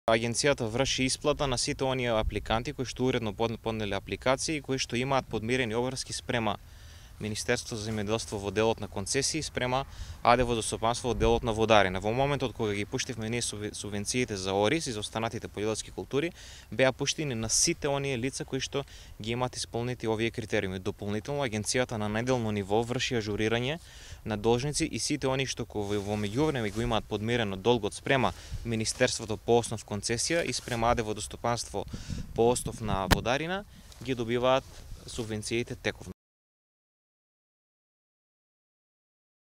Агенцијата врши исплата на сите оние апликанти кои што уредно поднеле апликации и кои што имаат подмирени обврски спрема Министерството за земјоделство во делот на концесии, спрема АД Водостопанство во делот на водарина. Во моментот кога ги пуштивме ние субвенциите за ориз и за останатите полјоделски култури, беа пуштени на сите оние лица кои што ги имаат исполнети овие критериуми. Дополнително агенцијата на неделно ниво врши ажурирање на должници и сите оние што во меѓувреме го имаат подмирено долгот спрема Министерството по основ концесија и спрема АД Водостопанство по основ на водарина, ги добиваат субвенциите тековно.